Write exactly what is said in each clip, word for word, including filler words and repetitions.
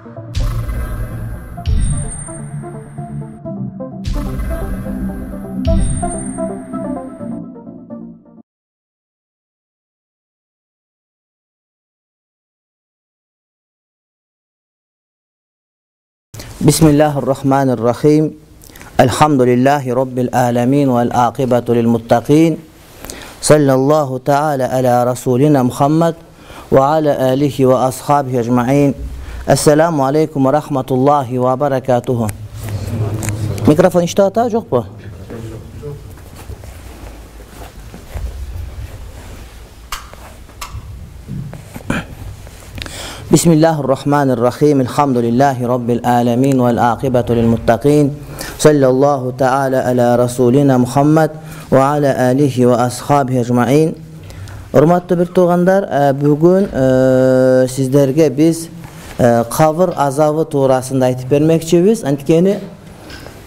Bismillahirrahmanirrahim. Elhamdülillahi Rabbil alemin vel aqibatu lil muttaqin. Sallallahu ta'ala ala Rasulina Muhammed ve ala alihi ve ashabihi ecma'in. Esselamu aleyküm ve rahmetullahi ve berekatuhu. Mikrofon işte hata yok mu? Bismillahirrahmanirrahim. Elhamdülillahi Rabbil alemin vel aqibatu lil muttaqin. Sallallahu ta'ala ala Rasulina Muhammed ve ala alihi ve ashabihi ecma'in. Hurmatly bir tuğanlar, bugün e, sizlerge biz e, kabir azabı tuğrasında aytıp bermekçibiz. Antkeni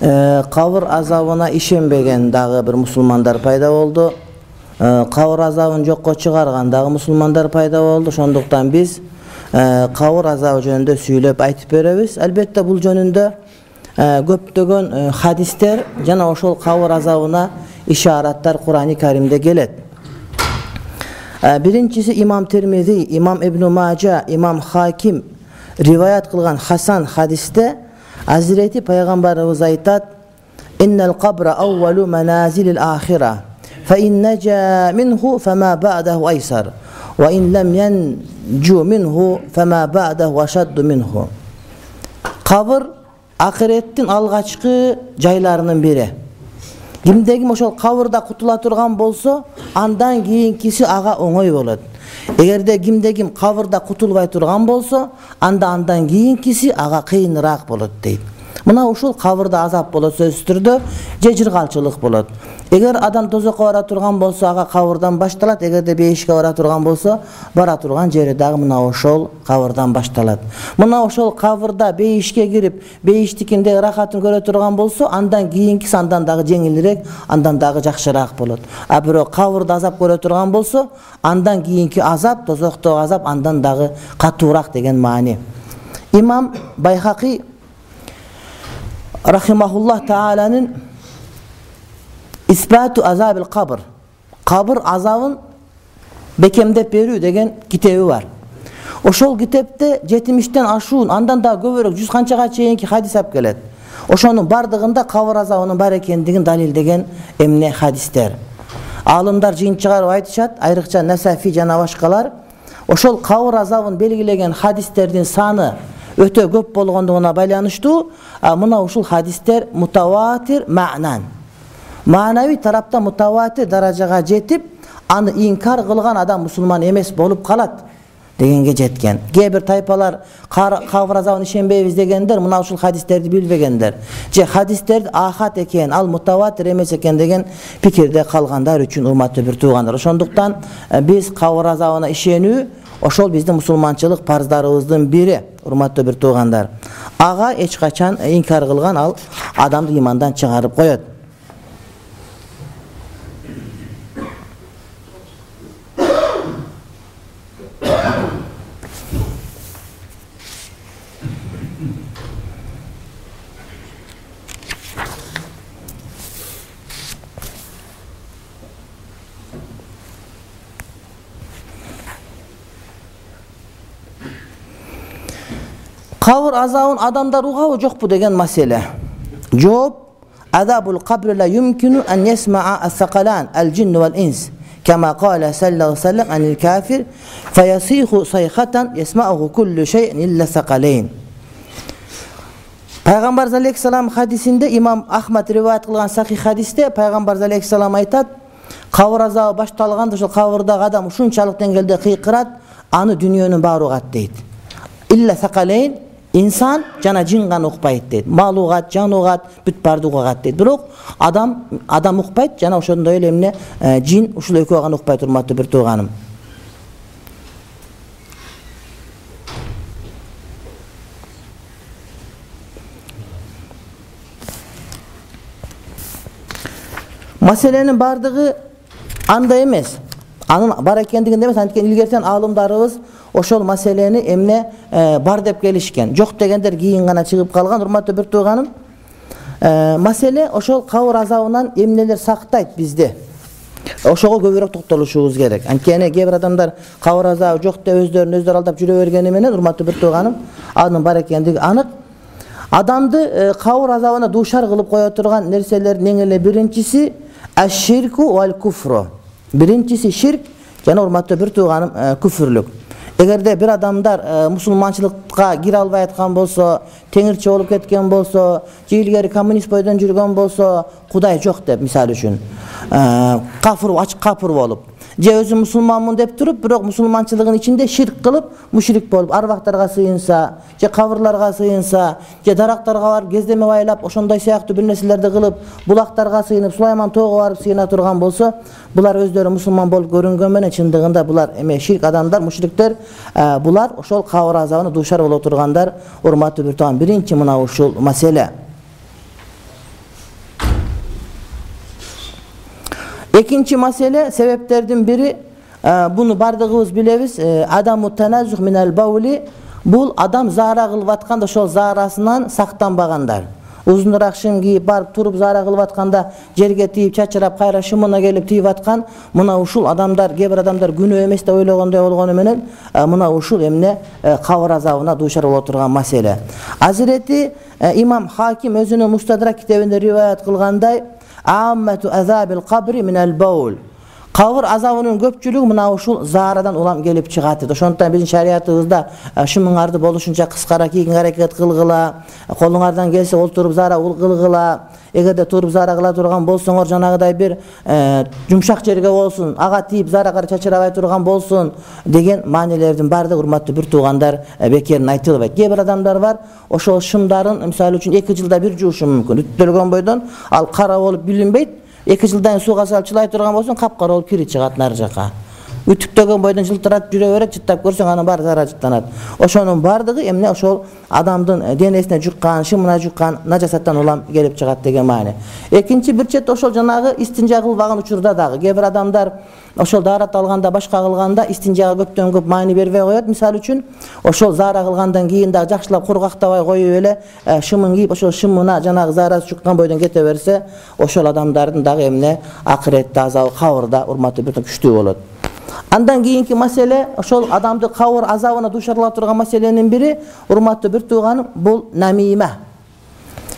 e, kabir azabına işenbegen dagı bir musulmanlar payda oldu. E, kabir azabını jokko çıgargan dagı musulmanlar payda oldu. Şonduktan biz e, kabir azabı jönündө süйлöp aytıp berебиz. Elbette bul jönündө e, köptөгөн e, hadisler jana oşol kabir azabına işaretler Kur'an-ı Kerim'de gelet. Birincisi İmam Tirmizi, İmam İbn Maca, İmam Hakim rivayet kılgan Hasan hadiste Hazreti Peygamberimiz aytat: "İnnel kabra awwalu manazilil ahire. Fe in neca minhu fema ba'dahu aysar. Ve in lem yencu minhu fema ba'dahu aşaddu minhu." Kabir ahirettin algaçkı jaylarının biri. Kimdegi oşol kabırda kutula turgan bolsa, andan kийинкиси ага оңой болот. Эгерде кимдеги kabırda kutulbay turgan bolsa, анда андан кийинкиси ага кыйыныраак болот дейт. Мына ушул kabırda азап болот сөзсүз түрдө, же жыргалчылык болот. Эгер адам тозокко бара турган болсо, ага kabırdan башталат. Эгерде бейишке бара турган болсо, бара турган жери дагы мына ошол kabırdan башталат. Мына ошол kabırda бейишке кирип, бейиштикинде рахатын көрө турган болсо, андан кийинкиси андан дагы жеңилирээк, андан дагы жакшыраак болот. А бирок kabırda азап көрө турган болсо, андан кийинки азап, тозоктогу азап андан дагы катуураак деген маани. İmam Bayhaqi rahimahullah Teala'nın İsbatu azabil kabr, kabir azabın bekemdep berүү деген китеби бар. Ошол китепте жетимиштен ашуун, андан да көбүрөөк жүз канчага чейинки хадис алып келет. Ошонун бардыгында кабир азабынын бар экендигин далилдеген эмне хадистер. Алымдар жыйын чыгарып айтышат, айрыкча Насафи жана башкалар ошол кабир азабын белгилеген хадистердин саны өтө көп болгондугуна байланыштуу. Мына ушул хадистер мутаватир маънан, маанавий тараптан мутаватир даражага жетип, аны инкар кылган адам мусулман эмес болуп калат дегенге жеткен. Кээ бир тайпалар кабир азабына ишенбейбиз дегендер мына ушул хадистерди билбегендер. Же хадистерди ахат экен, ал мутаватир эмес экен деген пикирде калгандар үчүн урматтуу бир туугандар. Ошондуктан биз кабир азабына ишенүү ошол биздин мусулманчылык парыздарыбыздын бири, урматтуу бир туугандар. Ага эч качан инкар кылган ал адамды имандан чыгарып коет. Kabir azabın adamlar uğabı jokpu деген маселе. Жооп: azabul kabri la yumkinu an yesma'a as-saqalan al-jinn wal-ins kama qala sallallahu aleyhi ve sellem anil kafir fayasihu sayhatan yesma'uhu kullu şey'in illa saqalayn. Peygamber aleyhisselam hadisinde İmam Ahmed rivayet kılgan sahih hadiste Peygamber aleyhisselam aytat: kabir azabı baştalganda ошол kabirдагы adam ушунчалык деңгээлде кыйкырат, аны дүйнөнүн баары угат дейт. Illa saqalayn, İnsan jana jin gana ukpayt deyт. Mal ugat, jan ugat, бүт барды угат дейт. Бирок адам адам укпайт, жана ошондой эле эмне жин ушул экөө гана укпайт, урматтуу бир тууганым. Маселенин бардыгы андай эмес. Анын бар экендигинде эмес, анткени илгертен алымдарыбыз ошол маселени эмне бар деп келишкен. Жок дегендер кийин гана чыгып калган. Урматтуу бир тууганым, маселе ошол кабыр азабынан эмнелер сактайт бизди. Ошого көбүрөөк токтолушубуз керек. Анткени кээ бир адамдар кабыр азабы жок деп өздөрүн өздөрү алдап жүрө бергени менен, урматтуу бир тууганым, анын бар экендиги анык. Адамды кабыр азабына дуушар кылып кое турган нерселердин эң эле биринчиси аш-ширку вал куфру. Биринчиси ширк жана урматтуу бир тууганым күфүрлүк. Эгерде бир адамдар мусулманчылыкка кире албай аткан болсо, теңирчи болуп кеткен болсо, же илгери коммунист бойдон жүргөн болсо, Кудай жок деп, мисалы үчүн, кафыр, ачык кафыр болуп, же өзү мусулманмын деп туруп, бирок мусулманчылыгын ичинде ширк кылып, мушрик болуп, арбактарга сыйынса, же кабырларга сыйынса, же дарактарга барып кездеме байлап, ошондой сыяктуу бир нерселерди кылып, булактарга сыйынып, Сулайман тоого барып сыйына турган болсо, булар өздөрү мусулман болуп көрүнгөн менен чындыгында булар эме ширк адамдар, мушриктер, булар ошол кабыр азабына дуушар боло тургандар. Урматтуу бир тууган, биринчи мына ушул маселе. Экинчи маселе, себептердин бири, буну бардыгыбыз билебиз, адаму таназзух минал баули, бул адам заара кылып атканда ошол заарасынан сактанбагандар. Узунураак шым кийип барып туруп заара кылып атканда жерге тийип чачырап кайра шымына келип тийип аткан, мына ушул адамдар, кээ бир адамдар күнөө эмес деп ойлогондой болгону менен, мына ушул эмне кабыр азабына дуушар боло турган маселе. Азирети имам Хаким өзүнүн Мустадрак китебинде риваят кылгандай, аммату азабил кабри минал баул. Кабыр азабынын көпчүлүгү мына ушул заарадан улам келип чыгат дейт. Ошондуктан биздин шариятыбызда шымыңарды болушунча кыскара кийгенге аракет кылгыла, колуңардан келсе олтуруп заара кылгыла, эгерде туруп заара кыла турган болсоңор жанагыдай бир жумшак жерге болсун, ага тийип заара чачырабай турган болсун деген маанилердин баардыгы, урматтуу бир туугандар, бекерин айтылбайт. Кээ бир адамдар бар, ошол шымдарын мисалы үчүн эки жылда бир жуушу мүмкүн. Үттөлгөн бойдон ал кара болуп билинбейт. эки жылдан сууга салып чылай турган болсоң, капкара болуп кири чыгат нары жака. Үтүктөгөн бойдон жылтырап жүрө берет, жыттап көрсөң анын баары зара жыттанат. Ошонун баардыгы эмне ошол адамдын денесине жуккан, шымына жуккан нажасаттан улам келип чыгат деген маани. Экинчи бир четте ошол жанагы истинжа кылбаган учурда дагы кээ бир адамдар ошол даарат алганда, башка кылганда истинжага көптөн көп маани бербей коет. Мисалы үчүн, ошол заара кылгандан кийин дагы жакшылап кургактабай коюп эле шымын кийип, ошол шымына жанагы заарасы жуккан бойдон кете берсе, ошол адамдардын дагы эмне акыретте азабы, кабырда, урматтуу бир күчтүү болот. Андан кийинки маселе, ошол адамды кабыр азабына дуушарлап турган маселенин бири, урматтуу бир тууганым, бул намима.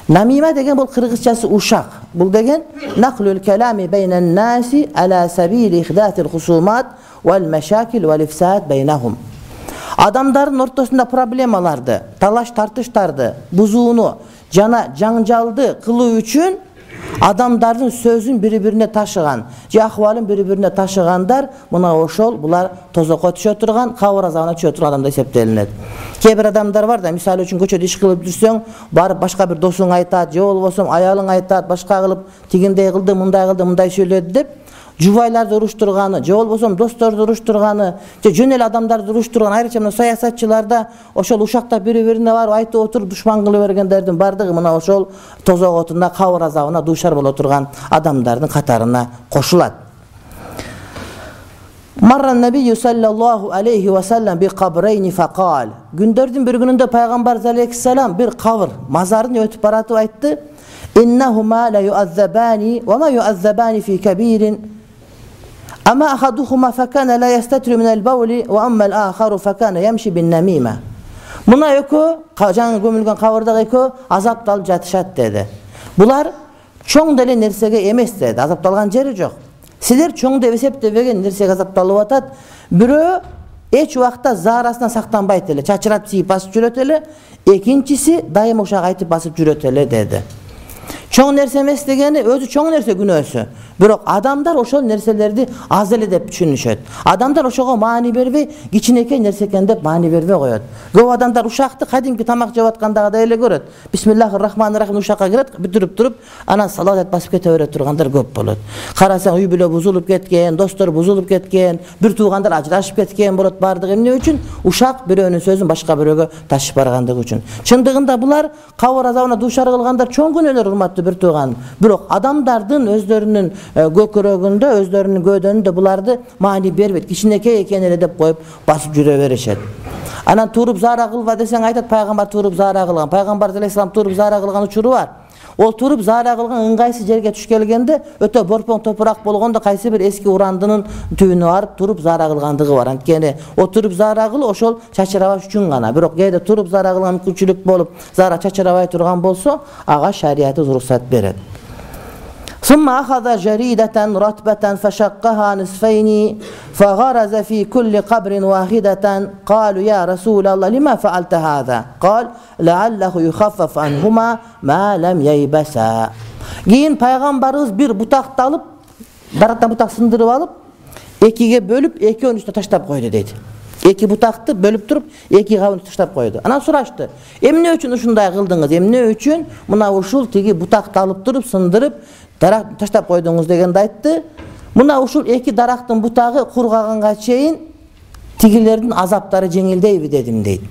Намима деген бул кыргызчасы ушак. Бул деген нақлул калами байнан наси ала сабили ихдатил хусумат вал машакил вал ифсад байнахум. Адамдардын ортосунда проблемаларды, талаш тартыштарды, бузууну жана жаңжалды кылуу үчүн адамдардын сөзүн бири-бирине ташыган, же акыбалын бири-бирине ташыгандар, мына ошол булар тозокко түшө турган, кабыр азабына түшө турган адамдар эсептелинет. Кээ бир адамдар бар да, мисалы үчүн көчөдө иш кылып жүрсөң, барып башка бир досуң айтат, же болбосо аялың айтат, башка кылып тигиндей кылды, мындай кылды, мындай сүйлөдү деп, жубайларды уруштурганы, же болбосо досторду уруштурганы, же жөн эле адамдарды уруштурган, айрыкча мына саясатчыларда ошол ушактап бири-бирине барып айтып отуруп душман кылып бергендердин бардыгы мына ошол тозок отунда кабыр азабына дуушар боло турган адамдардын катарына кошулат. Марра набийю саллаллаху алейхи ва саллям би кабрейни факал. Күндөрдүн бир күнүндө пайгамбар алейхиссалам бир кабыр мазарын өтүп баратып айтты: "Иннахума ла ю'аззабани ва ма ю'аззабани фи кабирин. Ama ahaduhuma fakana la yastatru min al-bawli wa amma al-akharu fakana yamshi bin-namima." Muna ekөө, жаңы көмүлгөн кабырдагы экөө азапталып жатышат деди. Булар чоң деле нерсеге эмес деди, азапталган жери жок. Силер чоң деп эсептебеген нерсеге азапталып атат. Бирөө эч убакта заарасынан сактанбайт эле, чачырап тийип басып жүрөт эле. Экинчиси дайыма ушак айтып басып жүрөт эле деди. Чоң нерсе эмес дегени өзү чоң нерсе күнөөсү. Бирок адамдар ошол нерселерди аз эле деп түшүнүшөт. Адамдар ошого маани бербей, кичинекей нерсе экен деп маани бербей коет. Көп адамдар ушакты кадимки тамак жеп аткандагыдай эле көрөт. Бисмиллахир-рахманир-рахим ушакка кирет, бүтүрүп туруп, анан салават басып кете берет тургандар көп болот. Карасаң үй бүлө бузулуп кеткен, достор бузулуп кеткен, бир туугандар ажырашып кеткен болот, бардыгы эмне үчүн? Ушак бирөөнүн сөзүн башка бирөөгө ташып баргандыгы үчүн. Чындыгында булар кабыр азабына дуушар кылгандар чоң күнөөлөр, урматтуу бир тууган. Бирок адамдардын өздөрүнүн көкөрөгүндө, өздөрүнүн көөдөнүндө буларды маани бербейт. Кичинекей экен эле деп коюп басып жүрө беришет. Анан туруп заара кылба десең айтат, пайгамбар туруп заара кылган. Пайгамбар алейхисалам туруп заара кылган учуру бар. Ол туруп заара кылган ыңгайсыз жерге туш келгенде өтө борпоң топурак болгондо кайсы бир эски урандынын түбүнө барып туруп заара кылгандыгы бар. Анткени о туруп заара кылуу ошол чачырабаш үчүн гана. Бирок кээде туруп заара кылган мүмкүнчүлүк болуп, заара чачырабай турган болсо, ага шариятыбыз уруксат берет. ثم أخذ جريدة رطبة فشقها نصفين فغرز في كل قبر واحدة قالوا يا رسول الله لما فعلت هذا قال لعله يخفف عنهما ما لم ييبسا. Кийин пайгамбарыбыз бир бутакты алып, дарактан бутак сындырып алып, экиге бөлүп, экөөнүн үстүнө таштап койду дейт. Эки бутакты бөлүп туруп, эки кабын таштап койду. Анан сурашты: "Эмне үчүн ушундай кылдыңыз? Эмне үчүн мына ушул тиги бутакты алып туруп, сындырып, дарак таштап койдуңуз?" дегенде айтты: "Мына ушул эки дарактын бутагы кургаганга чейин тигилердин азаптары жеңилдейби дедим" дейт.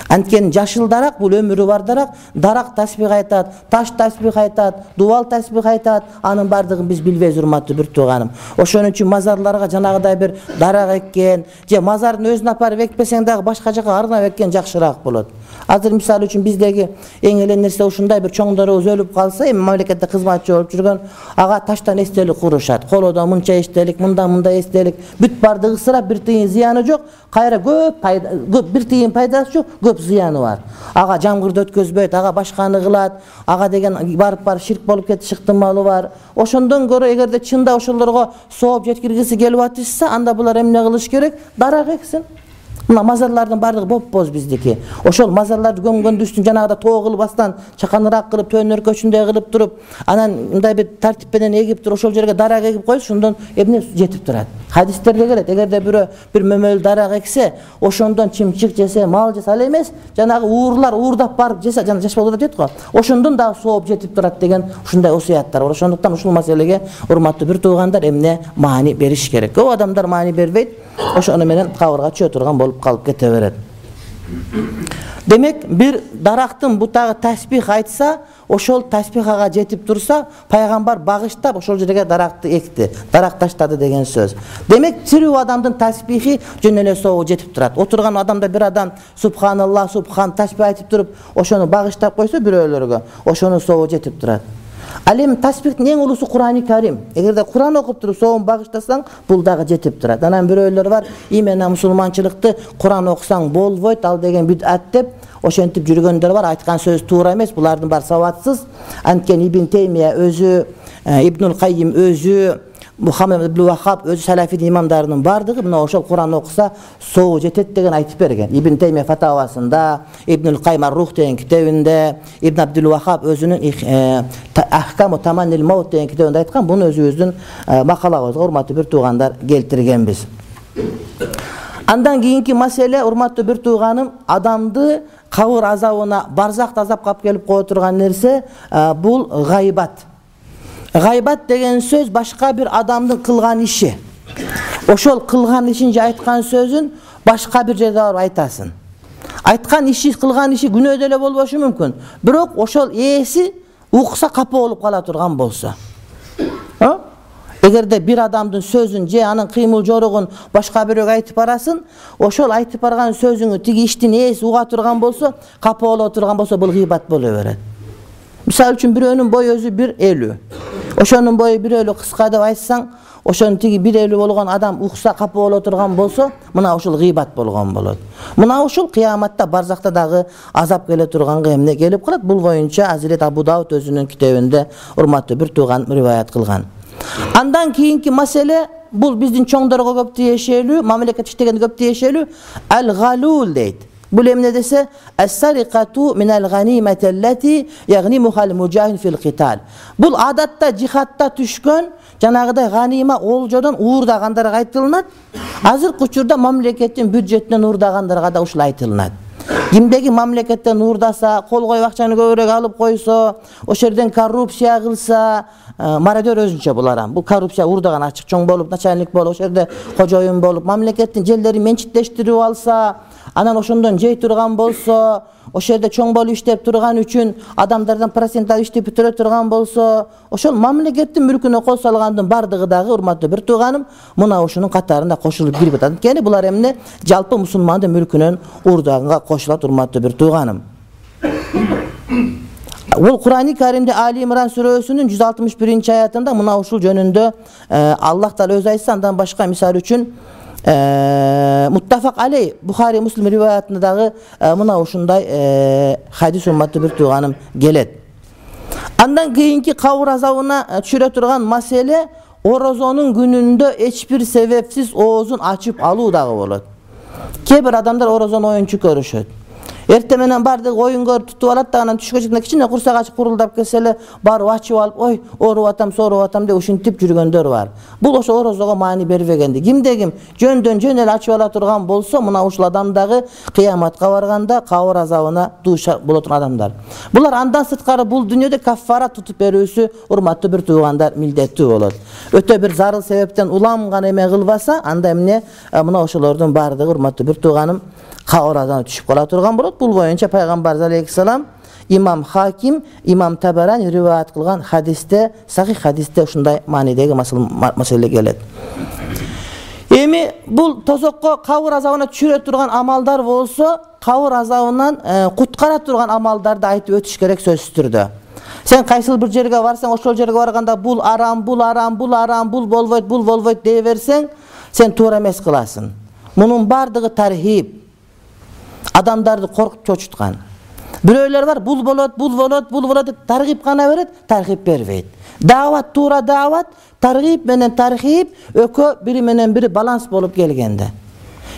Анткени жашыл дарак бул өмүрү бар дарак, дарак тасбих айтат, таш тасбих айтат, дубал тасбих айтат, анын бардыгын биз билбейбиз, урматтуу бир тууганым. Ошон үчүн мазарларга жанагыдай бир дарак эккен, же мазардын өзүнө апарып экпесең дагы башка жака арнап эккен жакшыраак болот. Азыр мисалы үчүн биздеги эң эле нерсе ушундай: бир чоңдорубуз өлүп калса, эми мамлекетте кызматчы болуп жүргөн, ага таштан эстелик курушат. Колодон мынча эстелик, мындан мындай эстелик, бүт бардыгы ысырап, бир тыйын зыяны жок, кайра көп пайда, көп бир тыйын пайдасы жок, көп зыяны бар. Ага жамгырды өткөзбөйт, ага башканы кылат, ага деген барып барып ширк болуп кетиш ыктымалы бар. Ошондон көрө эгерде чында ошолорго сооп жеткиргиси келип атышса, анда булар эмне кылыш керек? Дарак эксин. Мына мазарлардын бардыгы боп-боз биздики. Ошол мазарларды көмгөндүн үстүн жанагыда тоо кылбастан чаканыраак кылып, төөнөр көчүндөй кылып туруп, анан мындай бир тартип менен эгип туруп, ошол жерге дарак эгип койсо, ошондон эмне жетип турат. Хадистерде келет: эгерде бирөө бир мөмөл дарак эксе, ошондон чымчык жесе, мал жесе, ал эмес, жанагы уурлар уурдап барып жесе, жана жаш болот дейт го, ошондон дагы сооп жетип турат деген ушундай осуяттар бар. Ошондуктан ушул маселеге, урматтуу бир туугандар, эмне маани бериш керек. Көп адамдар маани бербейт, ошону менен кабырга чөө турган болуп калып кете берет. Демек, бир дарактын бутагы тасбих айтса, ошол тасбих ага жетип турса, пайгамбар багыштап ошол жерге даракты экти, дарак таштады деген сөз. Демек, тирүү адамдын тасбихи жөн эле соого жетип турат. Отурган адамда бир адам субханалла, субхан тасбих айтып туруп, ошону багыштап койсо бирөөлөргө, ошонун соого жетип турат. Ал эми тасбихтин эң улусу Курани Карим. Эгерде Куран окуп туруп соогун багыштасаң, бул дагы жетип турат. Анан бирөөлөр бар, имена мусулманчылыкты Куран окусаң болбойт, ал деген бид'ат деп ошентип жүргөндөр бар. Айткан сөз туура эмес, булардын баары сабатсыз. Анткени Ибн Теймия өзү, Ибнул Каййим өзү, Мухаммед ибн Вахаб өзү салафидин имамдарынын бардыгы мына ошол Куран окуса соогу жетет деген айтып берген. Ибн Теймия фатавасында, Ибнул Каййим ар-Рух деген китебинде, Ибн Абдул Вахаб өзүнүн Ахкаму Таманнил Маут деген китебинде айткан. Буну өзүбүздүн макалабызга, урматтуу бир туугандар, келтиргенбиз. Андан кийинки маселе, урматтуу бир тууганым, адамды кабыр азабына, барзакта азап калып келип кое турган нерсе бул гайбат. Гайбат деген сөз башка бир адамдын кылган иши. Ошол кылган ишин же айткан сөзүн башка бир жерде барып айтасың. Айткан иши, кылган иши күнөө деле болбошу мүмкүн. Бирок ошол ээси укса капа болуп кала турган болсо. Эгерде бир адамдын сөзүн же анын кыймыл жоругун башка бирөөгө айтып барасың, ошол айтып барган сөзүңү тиги иштин ээси уга турган болсо, капа боло турган болсо, бул гыйбат боло берет. Мисалы үчүн бирөөнүн бою өзү бир элүү. Ошонун бою бир элүү кыска деп айтсаң, ошонун тиги бир элүү болгон адам укса капа боло турган болсо, мына ушул гыйбат болгон болот. Мына ушул кыяматта барзакта дагы азап келе турганга эмне келип калат? Бул боюнча Азирет Абу Дауд өзүнүн китебинде, урматтуу бир тууган, риваят кылган. Андан кийинки маселе, бул биздин чоңдорго көп тиешелүү, мамлекет иштегенде көп тиешелүү, ал-галул дейт. Бул эмне десе, ас-сарикату минал ганимати аллати ягнимухал мужахид фил китал. Бул адатта жихадта түшкөн жанагыдай ганима олжодон уурдагандарга айтылынат. Азыркы учурда мамлекеттин бюджетинен уурдагандарга да ушул айтылынат. Кимдеги мамлекеттен уурдаса, кол коюп акчаны көбүрөөк алып койсо, ошол жерден коррупция кылса, мародер өзүнчө буларам. Бул коррупция уурдаган ачык чоң болуп, начальник болуп, ошол жерде кожоюн болуп, мамлекеттин жерлерин менчиктештирип алса, анан ошондон жей турган болсо, ошол жерде чоң болуп иштеп турган үчүн адамдардан процент алып иштеп бүтүрө турган болсо, ошол мамлекеттин мүлкүнө кол салгандын бардыгы дагы, урматтуу бир тууганым, мына ушунун катарында кошулуп кирип атат. Анткени булар эмне? Жалпы мусулмандын мүлкүнөн уурдаганга кошулат, урматтуу бир тууганым. Ол Кур'ан-ы Каримде Али Имран сүрөсүнүн жүз алтымыш биринчи аятында мына ушул жөнүндө Аллах Таала өзү айтса, андан башка мисал үчүн Муттафак алей Бухари Муслим риваятында дагы мына ушундай хадис, урматтуу бир тууганым, келет. Андан кийинки кабыр азабына түшүрө турган маселе орозонун күнүндө эч бир себепсиз оозун ачып алуу дагы болот. Кээ бир адамдар орозону оюнчу көрүшөт. Эртең менен бардык оюн көрүп тутуп алат да, анан түшкө чыкканда кичине курсак ачып курулдап келсе эле барып ачып алып, ой, ооруп атам, сооруп атам деп ушинтип жүргөндөр бар. Бул ошо орозого маани бербегенди. Кимде ким жөндөн жөн эле ачып ала турган болсо, мына ушул адам дагы кыяматка барганда кабыр азабына дуушар боло турган адамдар. Булар андан сырткары бул дүйнөдө каффара тутуп берүүсү, урматтуу бир туугандар, милдеттүү болот. Өтө бир зарыл себептен улам гана эме кылбаса, анда эмне? Мына ошолордун бардыгы, урматтуу бир тууганым, кабыр азабына түшүп кала турган болот. Бул боюнча пайгамбар алейхиссалам, имам Хаким, имам Табарани риваят кылган хадисте, сахих хадисте ушундай маанидеги маселе келет. Эми бул тозокко кабыр азабына түшүрө турган амалдар болсо, кабыр азабынан куткара турган амалдарды айтып өтүш керек сөзсүз түрдө. Сен кайсыл бир жерге барсаң, ошол жерге барганда бул арам, бул арам, бул арам, бул болбойт, бул болбойт дей берсең, сен туура эмес кыласың. Мунун бардыгы тархиб. Адамдарды коркуп чочуткан. Бирөөлөр бар, бул болот, бул болот, бул болот деп таргип гана берет, тархип бербейт. Даават туура даават, таргип менен тархип экөө бири менен бири баланс болуп келгенде.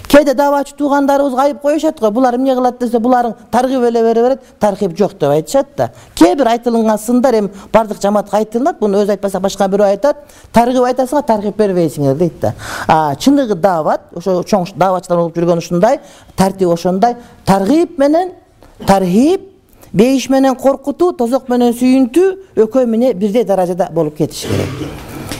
Кээде дааватчы туугандарыбыз айып коюшат го, булар эмне кылат десе, буларың таргип эле бере берет, тархип жок деп айтышат да. Кээ бир айтылган сындар эми бардык жамаатка айтылат, буну өзү айтпаса башка бирөө айтат, таргип айтасыңар, тархип бербейсиңер дейт да. А чындыгы даават, ошо чоң дааватчылар болуп жүргөн ушундай, тартип ошондой, таргип менен тархип, бейиш менен коркутуу, тозок менен сүйүнтүү экөө менен бирдей даражада болуп кетиш керек.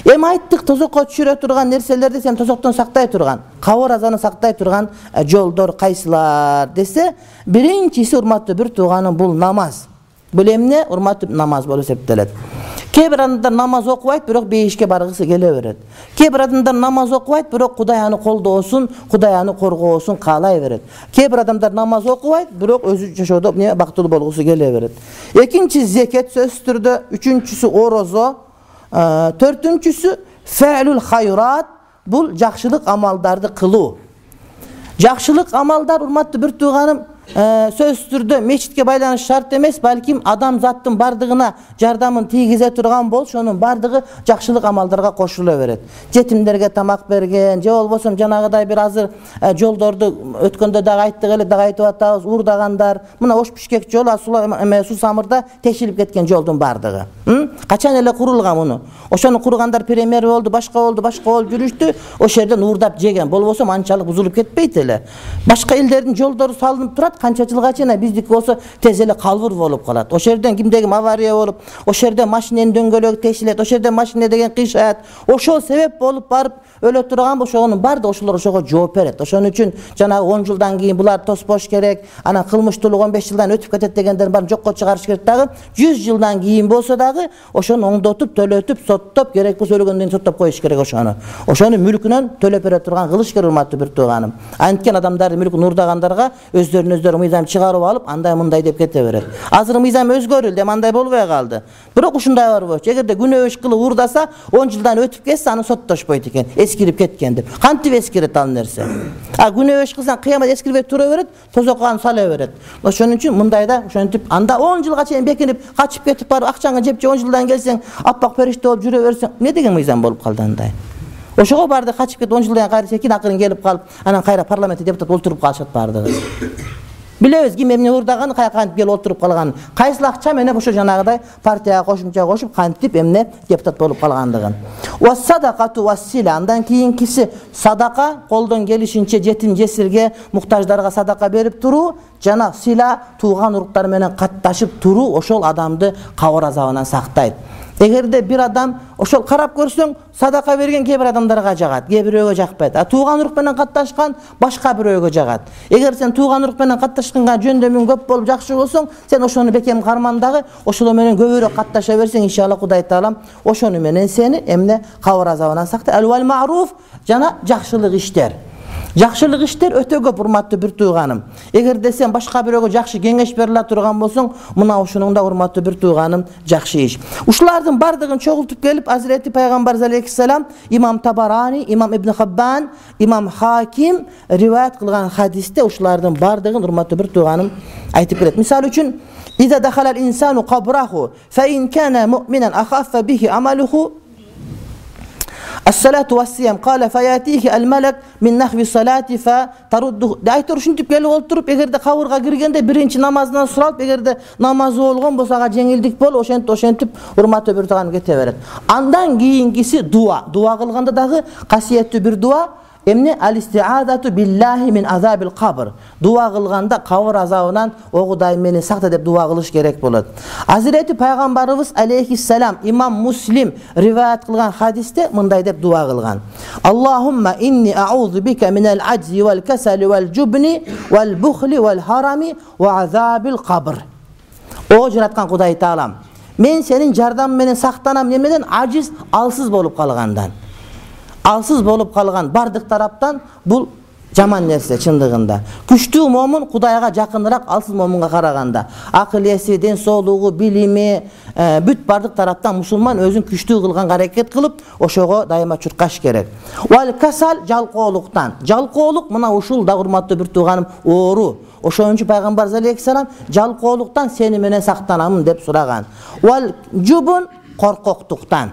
Эми айттык, тозокко түшүрө турган нерселерди сен тозоктон сактай турган, кабыр азабын сактай турган жолдор кайсылар десе, биринчиси, урматтуу бир тууганым, бул намаз. Бул эмне? Урматтуу намаз болуп эсептелет. Кээ бир адамдар намаз окубайт, бирок бейишке баргысы келе берет. Кээ бир адамдар намаз окубайт, бирок Кудай аны колдоосун, Кудай аны коргоосун каалай берет. Кээ бир адамдар намаз окубайт, бирок өзү жашоодо эмне бактылуу болгусу келе берет. Экинчи зекет сөзсүз түрдө, үчүнчүсү орозо, төртүнчүсү фәлүл хайрат, бул жакшылык амалдарды кылуу. Жакшылык амалдар, урматтуу бир тууганым, сөзсүз түрдө мечитке байланыш шарт эмес, балким адам заттын бардыгына жардамын тийгизе турган болсо, ошонун бардыгы жакшылык амалдарга кошула берет. Жетимдерге тамак берген, же болбосо жанагыдай бир азыр жолдорду өткөндө дагы айттык эле, дагы айтып атабыз, уурдагандар, мына Ош Бишкек жолу эме Сусамырда текшилип кеткен жолдун бардыгы. Качан эле курулган муну? Ошону кургандар премьер болду, башка болду, башка болуп жүрүштү, ошол жерден уурдап жеген, болбосо анчалык бузулуп кетпейт эле. Башка элдердин жолдору салынып турат, канча жылга чейин, биздики болсо тез эле калбыр болуп калат. Ошол жерден кимде ким авария болуп, ошол жерден машиненин дөңгөлөгү тешилет, ошол жерден машина деген кыйшат. Ошол себеп болуп барып өлө турган болсо, ошонун баардыгы ошолор ошого жооп берет. Ошон үчүн жанагы он жылдан кийин булар тоспош керек, анан кылмыштуулук он беш жылдан өтүп кетет дегендерин баарын жокко чыгарыш керек дагы. жүз жылдан кийин болсо дагы ошону оңдотуп, төлөтүп, соттоп, керек болсо өлгөндөн кийин соттоп коюш керек ошону. Ошону мүлкүнөн төлөп бере турган кылыш керек, урматтуу бир тууганым. Анткен адамдардын мүлкүн уурдагандарга өздөрүнүн өздөрү мыйзам чыгарып алып, андай мындай деп кете берет. Азыр мыйзам өзгөрүлдү, эми андай болбой калды. Бирок ушундай бар болчу. Эгерде күнөө иш кылып уурдаса, он жылдан өтүп кетсе, аны соттошпойт экен, эскирип кеткен деп. Кантип эскирет ал нерсе? А күнөө иш кылсаң, кыямат эскирбей тура берет, тозокко аны сала берет. Ошон үчүн мындайда ошентип анда он жылга чейин бекинип, качып кетип барып, акчаңы жеп же он жылдан келсең, аппак периште болуп жүрө берсең, эмне деген мыйзам болуп калды андай? Ошого барды качып кетип он жылдан кайра секин акырын келип калып, анан кайра парламентте депутат олтуруп калышат бардыгы. Билебиз ким эмне уурдаган, кантип келип олтуруп калган. Кайсыл акча менен ошо жанагыдай партияга кошумча кошуп, кантип эмне депутат болуп калгандыгын. Ва садакату вассила, андан кийинкиси садака, колдон келишинче жетим жесирге, муктаждарга садака берип туруу, жана сила тууган уруктар менен катташып туруу ошол адамды кабыр азабынан сактайт. Эгерде бир адам ошол карап көрсөң садака берген кээ бир адамдарга жагат, кээ бирөөгө жакпайт. А тууган урук менен катташкан башка бирөөгө жагат. Эгер сен тууган урук менен катташканга жөндөмүң көп болуп жакшы болсоң, сен ошону бекем кармандагы, ошол менен көбүрөөк катташа берсең, иншалла Кудай Таалам ошону менен сени эмне кабыр азабынан сактай. Ал-вал ма'руф жана жакшылык иштер. Жакшылык иштер өтө көп, урматтуу бир тууганым. Эгерде сен башка бирөөгө жакшы кеңеш бере ала турган болсоң, мына ушунуң да урматтуу бир тууганым жакшы иш. Ушулардын бардыгын чогултуп келип, Азирети Пайгамбар алейхиссалам, имам Табарани, имам Ибн Хаббан, имам Хаким риваят кылган хадисте ушулардын бардыгын урматтуу бир тууганым айтып келет. Мисалы үчүн, «Иза дахалал инсану кабраху, фа ин кана муъминан ахаффа бихи амалуху As-salatu was-siyam qala fayatihi al-malak min nahwi salati fa taruddu. Aytыр ушинтип келип олтуруп, эгерде кабырга киргенде биринчи намазынан суралып, эгерде намазы болгон болсо ага жеңилдик бол, ошентип ошентип урматтуу бир тууган кете берет. Андан кийинкиси дуа. Дуа кылганда дагы касиеттүү бир дуа. Эмне ал-исти'адату биллахи мин азабил кабр. Дуа кылганда кабыр азабынан о Кудай мени сакта деп дуа кылыш керек болот. Азирети Пайгамбарыбыз алейхиссалам имам Муслим риваят кылган хадисте мындай деп дуа кылган. Аллахумма инни а'удhu бика минал аджзи вал касали вал жубни вал бухли вал харами ва азабил кабр. О жараткан Кудай Таалам, мен сенин жардамың менен сактанам немеден? Ажиз, алсыз болуп калгандан. Алсыз болуп калган бардык тараптан бул жаман нерсе чындыгында. Күчтүү момун Кудайга жакыныраак алсыз момунга караганда. Акыл эси, ден соолугу, билими, бүт бардык тараптан мусулман өзүн күчтүү кылганга аракет кылып, ошого дайыма чуркаш керек. Вал касал жалкоолуктан. Жалкоолук мына ушул да урматтуу бир тууганым оору. Ошон үчүн Пайгамбар алейхиссалам жалкоолуктан сени менен сактанамын деп сураган. Вал жубун коркоктуктан.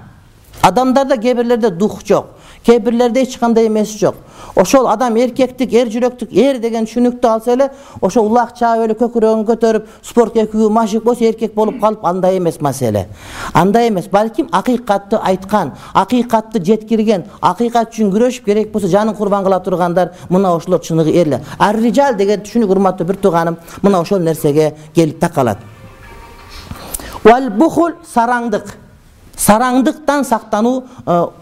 Адамдарда кээ бирлерде дух жок. Кээ бирлерде эч кандай эмес жок. Ошол адам эркектик, эр жүрөктүк, эр деген түшүнүктү алса эле, ошо улак чаап эле көкүрөгүн көтөрүп, спорт экүү машык болсо эркек болуп калып, андай эмес маселе. Андай эмес, балким акыйкатты айткан, акыйкатты жеткирген, акыйкат үчүн күрөшүп керек болсо жанын курбан кыла тургандар, мына ошолор чыныгы эрлер. Ар-рижал деген түшүнүк урматтуу бир тууганым, мына ошол нерсеге келип такалат. Вал бухул сараңдык. Сараңдыктан сактануу,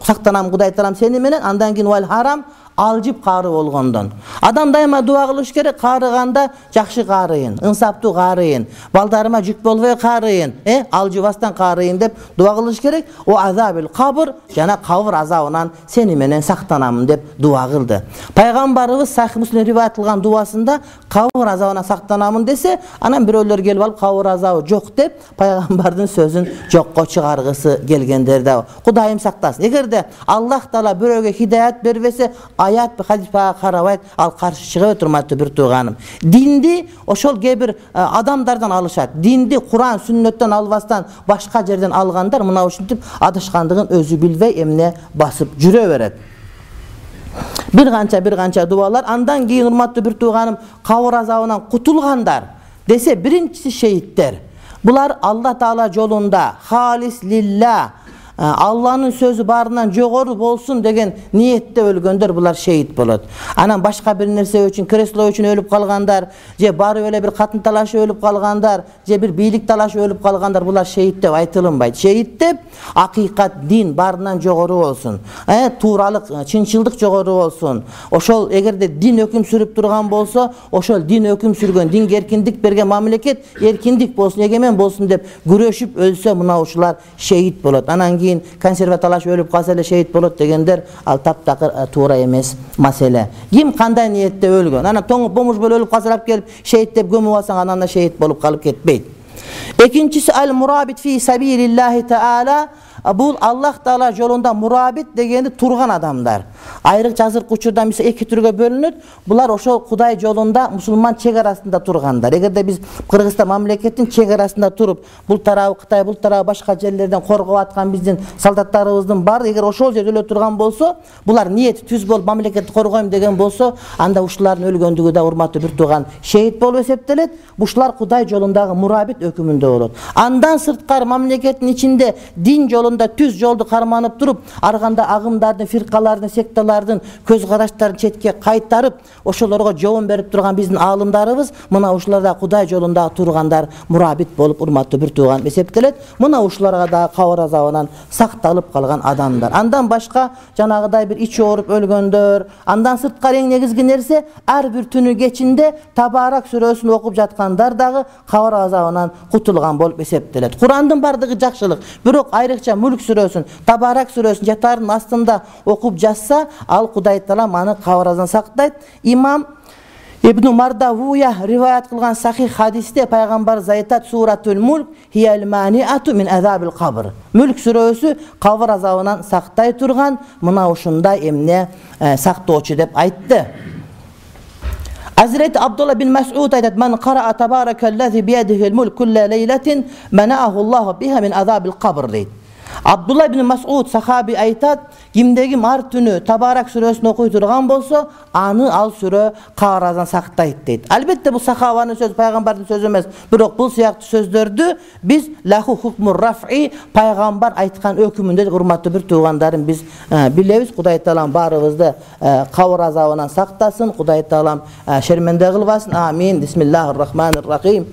сактанам Кудай Таалам сени менен. Андан кийин вал харам, алжып кары болгондон. Адам дайыма дуа кылыш керек, карыганда жакшы карыйын, ынсаптуу карыйын, балдарыма жүк болбой карыйын, э, алжыбастан карыйын деп дуа кылыш керек. О азабил кабр, жана кабыр азабынан сени менен сактанамын деп дуа кылды. Пайгамбарыбыз Сахih Муслим риваят кылган дуасында кабыр азабынан сактанамын десе, анан бирөөлөр келип алып кабыр азабы жок деп пайгамбардын сөзүн жокко чыгаргысы келгендер да. Кудайым сактасын. Эгерде Аллах Таала бирөөгө хидаят бербесе, аят бе хадис карабайт, ал каршы чыга турматтуу бир тууганым. Динди ошол кээ бир адамдардан алышат. Динди Куран, сүннөттөн албастан башка жерден алгандар мына ушинтип адашкандыгын өзү билбей эмне басып жүрө берет. Бир канча бир канча дуалар. Андан кийин урматтуу бир тууганым, кабыр азабынан кутулгандар десе, биринчиси шейиттер. Булар Алла Таала жолунда халис лилла, Алланын сөзү барынан жогору болсун деген ниетте өлгөндөр булар шейит болот. Анан башка бир нерсе үчүн, кресло үчүн өлүп калгандар, же барып эле бир катын талашып өлүп калгандар, же бир бийлик талашып өлүп калгандар, булар шейит деп айтылынбайт. Шейит деп акыйкат, дин барынан жогору болсун, э тууралык, чынчылдык жогору болсун. Ошол эгерде дин өкүм сүрүп турган болсо, ошол дин өкүм сүргөн, динге эркиндик берген мамлекет эркиндик болсун, эгемен болсун деп күрөшүп өлсө, мына ушулар шейит болот. Анан консерва талашып өлүп калса эле шейит болот дегендер, ал таптакыр туура эмес маселе. Ким кандай ниетте өлгөн? Анан тоңуп бомуш болуп өлүп калса келип шейит деп көмүп алсаң, анан да шейит болуп калып кетпейт. Экинчиси ал мурабит фи сабилиллахи таала. Бул Аллах Таала жолунда мурабит дегенди турган адамдар. Айрыкча азыркы учурда мисалы эки түргө бөлүнөт. Булар ошол Кудай жолунда мусулман чек арасында тургандар. Эгерде биз Кыргызстан мамлекеттин чек арасында туруп, бул тарабы Кытай, бул тарабы башка жерлерден коргоп аткан биздин солдаттарыбыздын баары эгер ошол жерде өлө турган болсо, булар ниети түз болуп мамлекетти коргойм деген болсо, анда ушулардын өлгөндүгү да урматтуу бир тууган шейит болуп эсептелет. Бушулар Кудай жолундагы мурабит өкүмүндө болот. Андан сырткары мамлекеттин ичинде дин жолунда түз жолду карманып туруп, арганда агымдардын, фиркалардын, секталардын башкалардын көз караштарын четке кайтарып ошолорго жоон берип турган биздин аалымдарыбыз мына ушуларда Кудай жолунда тургандар мурабит болуп урматтуу бир тууган эсептелет. Мына ушуларга да кабыр азабынан сакталып калган адамдар. Андан башка жанагыдай бир ичи ооруп өлгөндөр, андан сырткары эң негизги нерсе ар бир түнү кечинде Табарак сүрөсүн окуп жаткандар дагы кабыр азабынан кутулган болуп эсептелет. Курандын бардыгы жакшылык, бирок айрыкча Мүлк сүрөсүн, Табарак сүрөсүн жатардын астында окуп жатса, ал Кудай Таала аны кабыр азабынан сактайт. Имам Ибн Мардавуя риваят кылган сахих хадисте пайгамбар айтат: Суратул Мүлк хияль маниату мин азабил кабр. Мүлк сүрөсү кабыр азабынан сактай турган мына ушундай эмне сактоочу деп айтты. Hazreti Abdullah bin Mas'ud aytat: "Men qara'a tabarakallazi biyadihi'l mulk kulla leylatin mana'ahu Allah biha min azabil qabr." deydi. Abdullah bin Mas'ud sahabi aytat: "Kimdegi mar түнү Табарак сүрөсүн окуй турган болсо, аны ал сүрө кабыр азабынан сактайт" дейт. Албетте бул сахабанын сөзү, пайгамбардын сөзү эмес. Бирок бул сыяктуу сөздөрдү биз лаху хукмур рафи, пайгамбар айткан өкүмүндө урматтуу бир туугандарым биз билебиз. Кудай Таалам баарыбызды кабыр азабынан сактасын. Кудай Таалам шерменде кылбасын. Амин. Бисмиллахир рахманир рахим.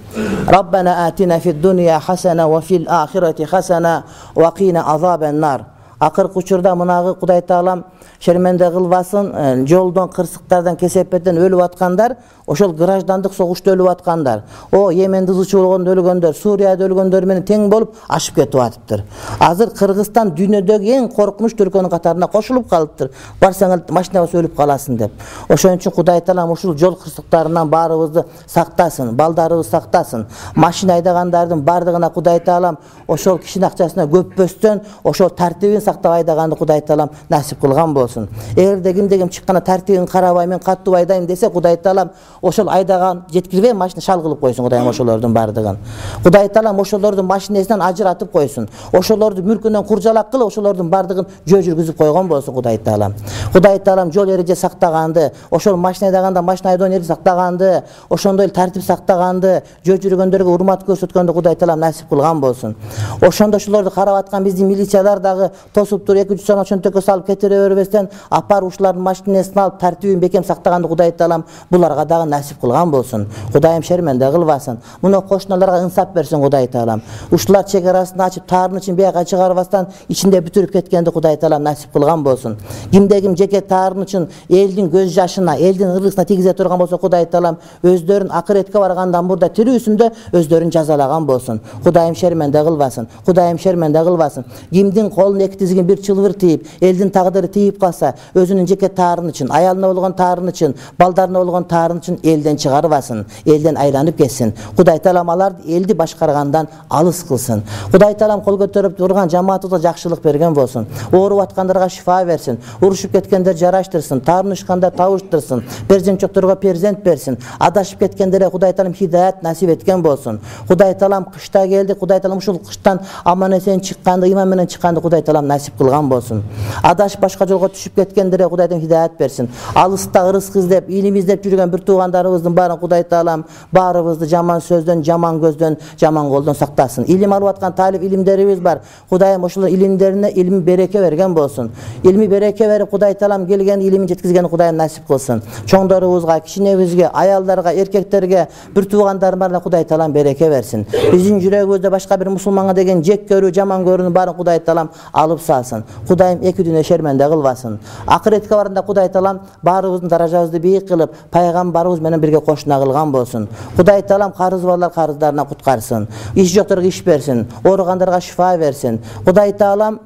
Раббана атина фид дунья хасана ва фил ахирати хасана ва qina azaben nar. Акыркы учурда мынагы Кудай Таалам шерменде кылбасын, жолдон, кырсыктардан, кесепеттен өлүп аткандар, ошол граждандык согушта өлүп аткандар, о Йеменде ызычы болгондо өлгөндөр, Сурияда өлгөндөр менен тең болуп ашып кетип атыптыр. Азыр Кыргызстан дүйнөдөгү эң коркунучтуу өлкөнүн катарына кошулуп калыптыр. Барсаңыз машинабыз өлүп каласың деп. Ошон үчүн Кудай Таалам ушул жол кырсыктарынан баарыбызды сактасын, балдарыбызды сактасын. Машина айдагандардын бардыгына Кудай Таалам ошол кишинин акчасына көппөстөн ошол тартибин сактап айдаганды Кудай Таалам насип кылган болсун. Эгерде кимде-ким чыкканда тартибин карабай мен каттуу айдайм десе, Кудай Таалам ошол айдаган жеткирбей машина шал кылып койсун Кудайым ошолордун бардыгын. Кудай Таалам ошолордун машинасынан ажыратып койсун. Ошолорду мүлкүнөн куржалак кылып ошолордун бардыгын жөө жүргүзүп койгон болсун Кудай Таалам. Кудай Таалам жол эреже сактаганды, ошол машина айдаганда машина айдоо эреже сактаганды, ошондой тартип сактаганды, жөө жүргөндөргө урмат көрсөткөндү Кудай Таалам насип кылган болсун. Ошондо ошолорду карап аткан биздин милициялар дагы тосуп туруп эки жүз сом чөнтөккө салып кетире бербестен апар ушулардын машинасына алып тартибин бекем сактаганды Кудай Таалам буларга дагы насип кылган болсун. Кудайым шерменде кылбасын. Муну кошуналарга ынсап берсин Кудай Таалам. Ушулар чек арасын ачып таарын үчүн бияка чыгарбастан ичинде бүтүрүп кеткенди Кудай Таалам насип кылган болсун. Кимде-ким жеке таарын үчүн элдин көз жашына, элдин ыргысына тийгизе турган болсо Кудай Таалам өздөрүн акыретке баргандан мурда тирүүсүндө өздөрүн жазалаган болсун. Кудайым шерменде кылбасын. Кудайым шерменде кылбасын. Кимдин колун эки тизигин бир чылбыр тийип, элдин тагдыры тийип калса, өзүнүн жеке таарын үчүн, аялына болгон таарын үчүн, балдарына болгон таарын үчүн элден чыгарбасын, элден айланып кетсин. Кудай Таалам аларды элди башкаргандан алыс кылсын. Кудай Таалам кол көтөрүп турган жамаатыбызга жакшылык берген болсун. Ооруп аткандарга шифа берсин, урушуп кеткендер жараштырсын, таарынышкандар табыштырсын, перзент жокторго перзент берсин. Адашып кеткендерге Кудай Таалам хидаят насип эткен болсун. Кудай Таалам кышта келди, Кудай Таалам ушул кыштан аман эсен чыкканды, иман менен чыкканды Кудай Таалам насип кылган болсун. Адаш башка жолго түшүп кеткендерге Кудай Таалам хидаят берсин. Алыста ырыскы издеп, илим издеп жүргөн бир туугандарыбыздын баарын Кудай Таалам баарыбызды жаман сөздөн, жаман көздөн, жаман колдон сактасын. Илим алып аткан талип илимдерибиз бар. Кудайым ошол илимдерине илми береке берген болсун. Илми береке берип Кудай Таалам келген илимин жеткизген Кудайым насип кылсын. Чоңдорубузга, кичинебизге, аялдарга, эркектерге, бир туугандарыбарына Кудай Таалам береке берсин. Биздин жүрөгүбүздө башка бир мусулманга деген жек көрүү, жаман көрүүнү баарын Кудай Таалам алып салсын. Кудайым эки дүйнө шерменде кылбасын. Акыретке барганда Кудай Таалам баарыбыздын даражабызды бийик кылып, пайгамбарыбыз менен бирге кошуна кылган болсун. Кудай Таалам карыз барлар карыздарына куткарсын. Иш жокторго иш берсин, ооругандарга шифа берсин. Кудай Таалам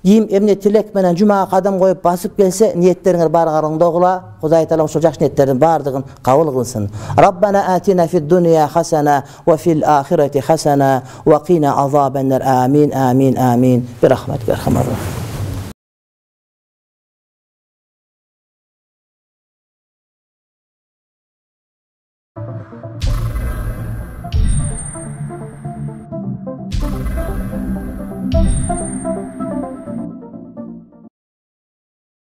ким эмне тилек менен жумага кадам коюп басып келсе, ниеттериңер баары караңдогула. Кудай Таалам ошол жакшы ниеттердин баардыгын кабыл кылсын. Раббана атина фид дунья хасана ва фил ахирати хасана ва qina azaben nar. Amin, amin, amin. Bi rahmatika ya arhamar rahimin.